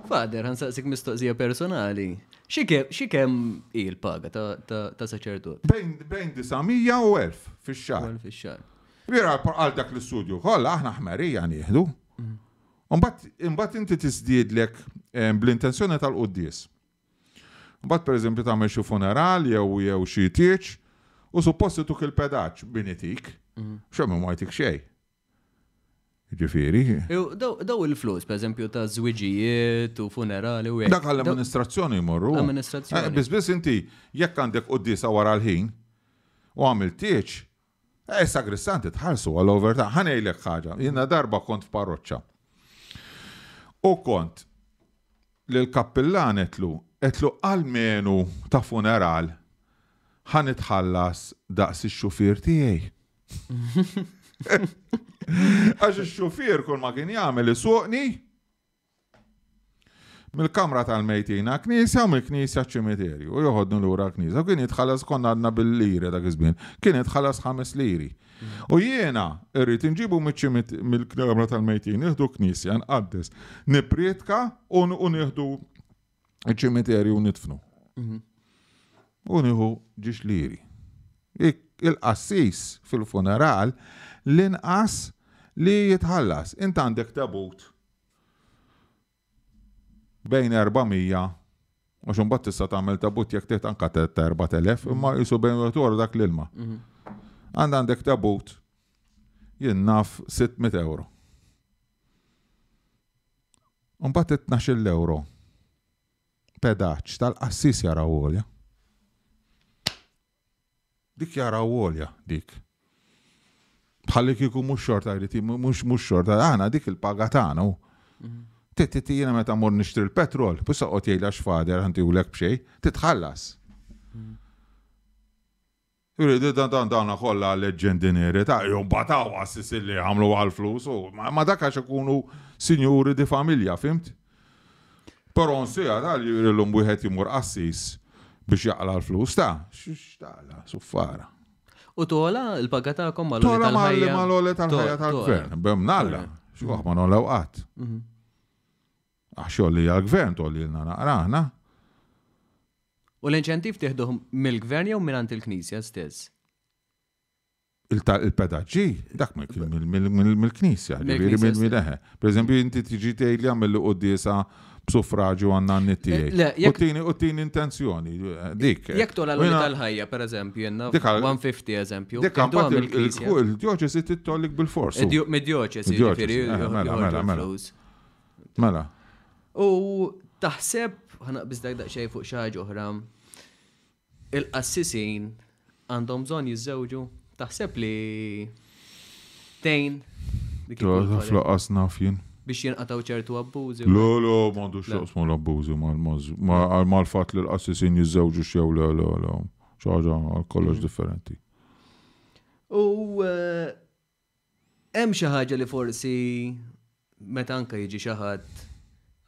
Father, ħa nsaqsik mistoqsija personali. Xi kemm hi l-paga ta' saċerdot? Bejn 900 u 1000 fix-xahar. Fix-xahar. Vera għal dak l-istudju kollha aħna ħmerija nieħdu. Imbagħad inti tiżdiedlek eh, bl-intenzjoni tal-quddies. Mbagħad pereżempju tagħmel xi funeral jew jew xi tieġ u suppost ituk il-pedaġġ min itik. Xemm ma jtik xejn. Ġifieri. Daw il-flus, per eżempju, ta' żwiġijiet u funerali u hekk. Dak għall-amministrazzjoni jmorru. Amministrazzjoni. Eh, biss biss inti jekk għandek quddiesa wara l-ħin u għamilt tieġ, eh, sagristanti tħallsu għal overtime. Ħa ngħidlek ħaġa, jiena darba kont f'parroċċa. U kont lill-kappillan għedtlu, għedtlu almenu ta' funeral ħa nitħallas daqs ix-xufier tiegħi. Għax ix-xufier kull ma kien jagħmel isuqni mill-kamra tal-mejtin knisja u mill-knisja ċimiterju u joħodni lura knisja. U kien jitħallas konna għadna bil-liri dak iż-żmien, kien jitħallas 5 liri. U jiena irrid inġibu mill-kamra tal-mejtin, nieħdu knisja, nqaddes, nipprietka u nieħdu ċimiterju u nidfnu. U nieħu ġiex liri. Il-qassis fil-funeral l-inqas li jitħallas. Int għandek tabut bejn 400 għax imbagħad tista' tagħmel tabut jekk trid anka ta' 4000 imma jisu bejn wieħed wara dak l-ilma. Għand għandek tabut jien naf 600 euro. Mbagħad 12 euro pedaġġ tal-qassis jaraw għolja. Dik jaraw għolja, dik. Bħalli kieku mhux xorta jrid mhux mhux xorta, aħna dik il-paga tagħna. Titi jiena meta mur nixtri l-petrol, biex oqgħod jgħidla x'fader ħantihulek b'xejn, titħallas. Jridu dan dan dawna kollha leġġendineri ta' jew bataw għassis li għamlu għal-flus u ma dak għax ikunu sinjuri di familja, fimt? Però nsija ta' li l-lum wieħed jimur qassis biex jaqla l-flus ta' x'taqla, suffara. U tola l-paga tagħkom mal Tola mal-għoli tal-ħajja tal-gvern, bem nalla, x'waħ ma nollew qatt. Għax jolli għal-gvern tolli l naqra aħna. U l-inċentiv tieħduh mill-gvern jew mingħand il-Knisja stess? Il-pedaġġi, dak mill-Knisja, ġifieri mill-eħe. Per eżempju, inti tiġi tgħidli għamil quddiesa b'suffraġju għandna n tiegħi. U tini intenzjoni, dik. Jekk tola l tal-ħajja, per eżempju, jenna 150 eżempju. Dik il-dioċesi titollik bil-fors. Mid-dioċesi, ġifieri. Eh, mela, mela, mela. Mela. U taħseb, ħa naqbiż daqsxejn fuq xi ħaġa oħra, il-qassisin għandhom bżonn jiżżewġu? Taħseb li tgħin? Fl-qas naf jien. Biex jinqataw ċertu abbużi. Le, le, m'għandu x'jaqsmu l-abbużi mal-fatt li l-qassisin jiżżewġu xew le, le, le. Xi ħaġa kollox differenti. U eh, Hemm xi ħaġa li forsi meta anke jiġi xi ħadd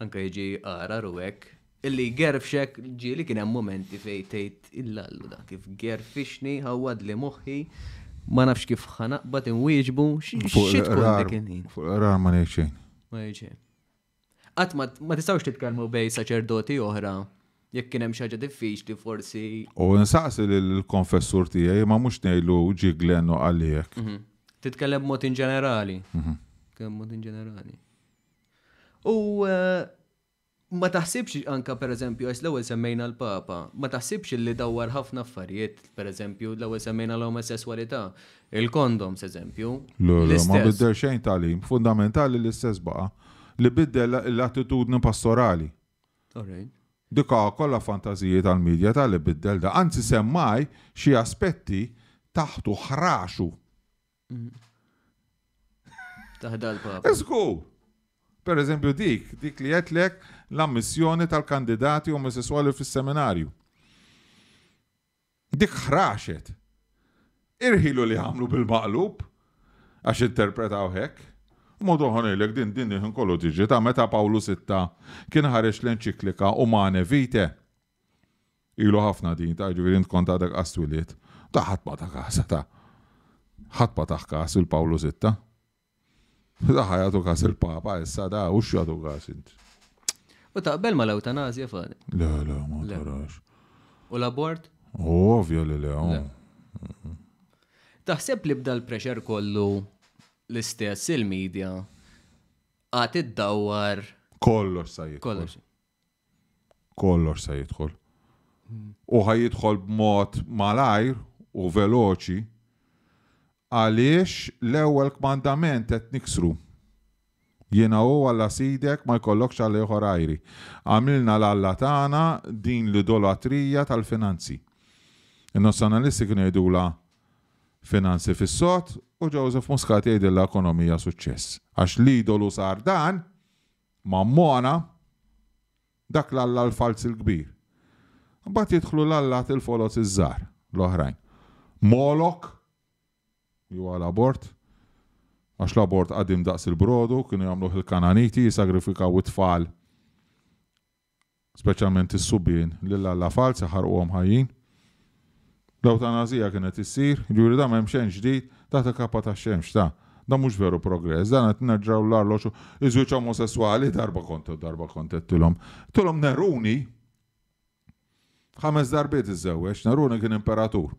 anke jiġi għarar u hekk, illi jgerfxek ġieli kien hemm mumenti fejn tgħid illallu da kif gerfixni ħawwadli moħħi ma nafx kif ħa naqbad inwieġbu xi tkun dik il-ħin. Fuq l-qrar ma ngħid xejn. Ma ngħid xejn. Qatt ma ma tistgħux titkellmu bejn saċerdoti oħra jekk kien hemm xi ħaġa diffiċli forsi. U nsaqsi lill-konfessur tiegħi ma mhux ngħidlu ġie Glenn u qalli hekk. Mhm. Titkellem b'mod in ġenerali. Mhm. Titkellem b'mod in ġenerali. U eh, ma taħsibx anka per eżempju, għax l-ewwel semmejna l-Papa, ma taħsibx li dawwar ħafna affarijiet, per eżempju, l-ewwel semmejna l-omosessualità, Il-condoms, eżempju. Le, le, ma biddel xejn tagħlim. Fundamentali l-istess baqa'. Li biddel l-attitudni pastorali. Dik kollha fantażiji tal-media ta' li biddel da. Anzi semmaj xi aspetti taħtu ħraxu. Taħda l-papa. Żgur! Per eżempju dik, dik li għedtlek l-ammissjoni tal-kandidati omosessuali fis-seminarju. Dik ħraxet. Irħilu li għamlu bil-maqlub, għax interpretaw hekk. Mod oħra ngħidlek din din il-ħin kollu tiġri ta' meta Pawlu Sitta kien ħareġ l-enċiklika Humanae Vitae. Ilu ħafna din ta' ġifieri int kont għadek qas twilidt. Ta' ħadd ma ta kasha ta'. Ħadd ma tah kas il Pawlu Sitta. Da ħa jagħtu kas il-Papa issa da u x'jagħtu kas int. U taqbel ma l-eutanazja fadi? Le, le, ma tarax. U l-abort? Ovvja li le. Oh. Taħseb li bda l-pressure kollu l-istess il-media għad iddawwar. Kollox sa jidħol. Kollox. Kollox sa jidħol. U ħa jidħol b'mod malajr u veloċi għaliex l-ewwel kmandament qed niksru. Jiena hu Alla Sidek ma jkollokx alla ieħor għajri. Għamilna l-alla tagħna din l-idolatrija tal-finanzi. In-nazzjonalisti kienu jgħidulha finanzi fis-sod u Joseph Muscat jgħidilha ekonomija suċċess. Għax l-idolu sar dan, Mammona, dak l-alla l-falz il-kbir. Mbagħad jidħlu l-allat il-foloz iż-żgħar, l-oħrajn. Molok, li huwa l-abort, għax l-abort qadim daqs il-brodu, kienu jagħmluh il-Kananiti, jisagrifikaw it-tfal speċjalment is-subien, lil alla falz iħarquhom ħajjin. L-ewtanasija kienet issir, jiġifieri dan m'hemm xejn ġdid taħt il-kappa tax-xemx, ta. Dan mhux veru progress, dan qed nerġgħu l-arloġġ iż-żwieġ omosesswali darba kont darba kont għedtilhom. Għedtilhom Neruni ħames darbiet iżżewweġ, Neruni kien imperatur.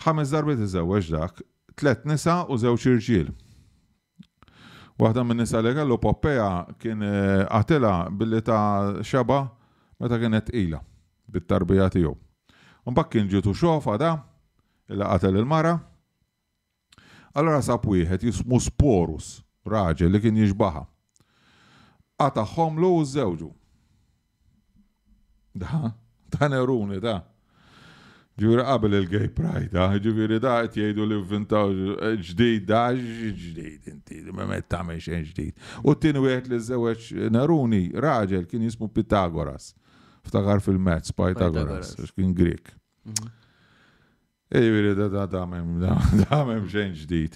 Ħames darbiet iżżewweġ dak, tlett nisa u żewġ irġiel. Waħda min-nisa li kellu Poppea kien qatilha billi ta xebgħa meta kienet tqila bit-tarbija tiegħu. Imbagħad kien ġietu xofa da illi qatel il-mara. Allura sab wieħed jismu Sporus, raġel li kien jixbaha. Qatagħhomlu u żżewġu. Da, ta' Neruni, da. Ġifieri qabel il-gay pride, da, ġifieri da qed jgħidu li vvintaw ġdid, da ġdid inti, ma qed tagħmel xejn ġdid. U t-tieni wieħed li żewġ Neruni, raġel kien jismu Pitagoras. Ftakar fil-mezz, Pythagoras, għax kien Grek. Mhm. Jiġifieri da da da m'hemm da da m'hemm xejn ġdid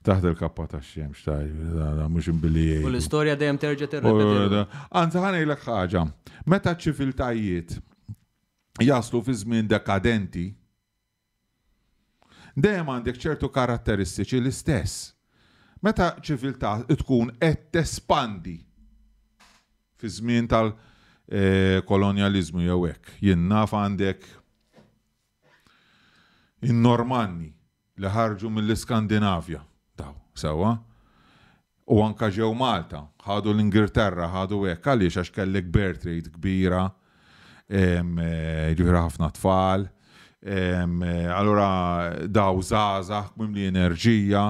taħt il-kappa tax-xemx ta' jiġifieri da da mhux imbilli U jgħidu. l-istorja dejjem terġa' tirrepeti. Anzi ħa ngħidlek ħaġa, meta ċ-ċiviltajiet jaslu fi żmien dekadenti, dejjem għandek ċertu karatteristiċi l-istess. Meta ċiviltà tkun qed tespandi fi żmien tal-kolonjaliżmu jew hekk, jien naf għandek In-Normanni li ħarġu mill-Iskandinavja, daw, sewwa, u anka ġew Malta, ħadu l-Ingilterra, ħadu hekk, għaliex għax kellek birth rate kbira, ġifieri ħafna tfal, allura daw żgħażagħ mimli enerġija,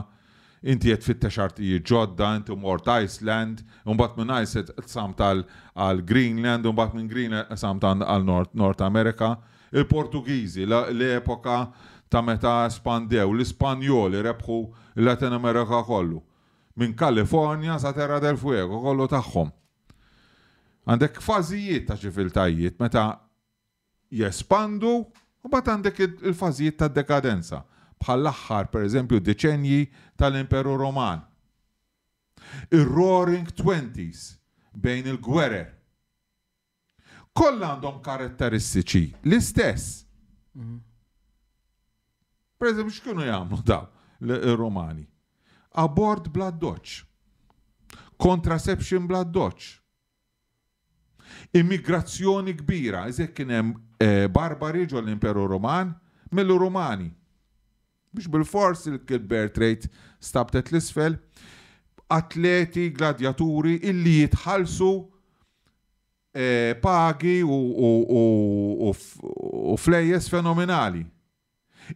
Inti qed tfittex artijiet ġodda, inti mort Iceland, imbagħad minn Iceland qsamt għal Greenland, imbagħad minn Greenland qsamt għal North America. Il-Portugiżi, l-epoka ta' meta espandew, l-Ispanjoli rebħu l-Latin America kollu. Minn California sa Terra del Fuego, kollu tagħhom. Għandek fażijiet ta' ċiviltajiet meta jespandu u mbagħad għandek il-fażijiet ta' dekadenza, bħall-aħħar, pereżempju, deċennji tal-Imperu Roman. Ir-Roaring Twenties bejn il-gwerer. Kollha għandhom karatteristiċi l-istess. Per eżempju, x'kienu jagħmlu daw ir-Romani? Abort bla doċ. Contraception bla doċ. Immigrazzjoni kbira, iżjed kien hemm eh, barbari ġol l-Imperu Roman mill-Rumani. Biex bil-fors il-birth rate stabtet l-isfel, atleti, gladjaturi illi jitħallsu eh, pagi u flejjes fenomenali.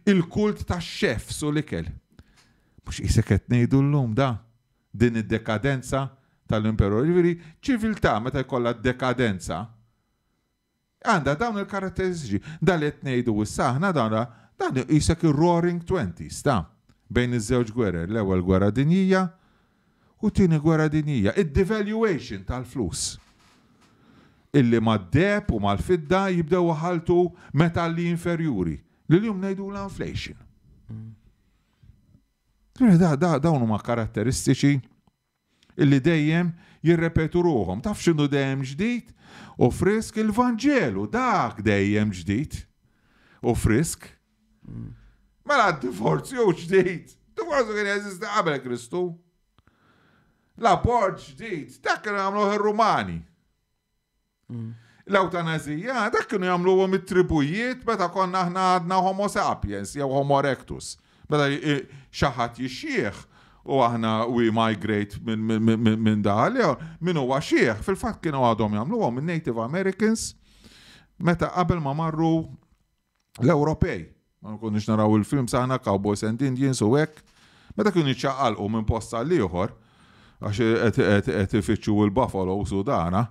Il-kult tax-chefs u l-ikel. Mhux qisek qed ngħidu llum da, din id-dekadenza tal-imperu. Jiġifieri ċiviltà meta jkollha dekadenza għandha dawn il-karatteristiċi. Dan li qed ngħidu issa aħna dan dan qisek ir-Roaring Twenties ta' bejn iż-żewġ gwerer, l-Ewwel Gwerra Dinjija u t-Tieni Gwerra Dinjija, id-devaluation tal-flus illi mad-deheb u mal-fidda jibdew iħalltu metalli inferjuri li llum ngħidulha inflation. Da, da, dawn huma karatteristiċi illi dejjem jirrepetu ruħhom. Taf x'inhu dejjem ġdid u frisk il-Vanġelu, dak dejjem ġdid u frisk. Mela d-divorzju ġdid. Divorzju kien jeżisti qabel Kristu. L-abort ġdid, dak kienu jagħmluh ir-Rumani. L-ewtanazija, dak kienu jagħmluhom it-tribujiet meta konna aħna għadna Homo sapiens jew Homo erectus. Meta xi ħadd jixjieħ u aħna we migrate minn daħal jew min huwa xieħ, fil-fatt kienu għadhom jagħmluhom in-Native Americans meta qabel ma marru l-Ewropej. Ma nkunux naraw il-films aħna Cowboys and Indians u hekk. Meta kienu jiċċaqalqu minn post għal ieħor, għax qed ifittxu l-buffalo u dana,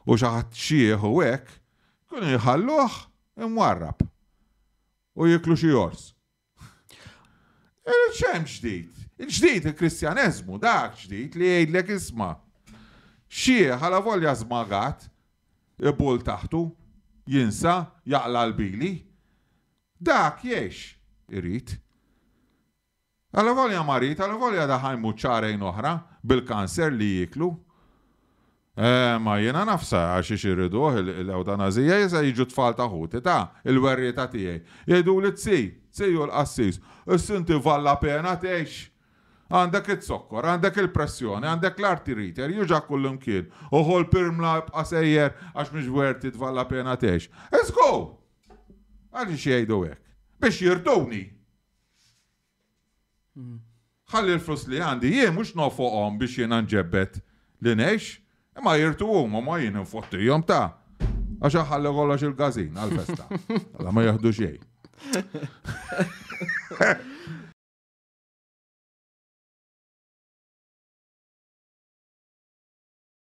u xi ħadd xieħ u hekk, kienu jħalluh imwarrab u jiklu xi ors. X'hemm ġdid? Il-ġdid il-Kristjaneżmu dak ġdid li jgħidlek isma'. Xieħ għala volja żmagat, ibul taħtu, jinsa, jaqla' l-bili. Dak jgħix irid. Alavolja marid, alavolja da ħa jmut xahrejn oħra bil-kanser li jieklu. Eh, ma jiena nafsa għax ix iriduh l-ewtanazija jisa jiġu tfal ta' ħuti ta' il-werrieta tiegħi. Jgħiduli tzi, tzi u l-qassis, issinti valla pena tgħix. Għandek iz-zokkor, għandek il-pressjoni, għandek l-artirite, juġa kullimkien, u ħol pirmla ibqa' sejjer għax mhix worth it valla pena tgħix. Let's go! Għaliex jgħidu hekk? Biex jirduni. Ħalli l-flus li għandi jien mhux nofoqhom biex jiena nġebbed li ngħix, imma jirtu huma ma jien infottihom ta' għax ħalli kollox il-gazin għal-festa. Alla ma jaħdu xejn.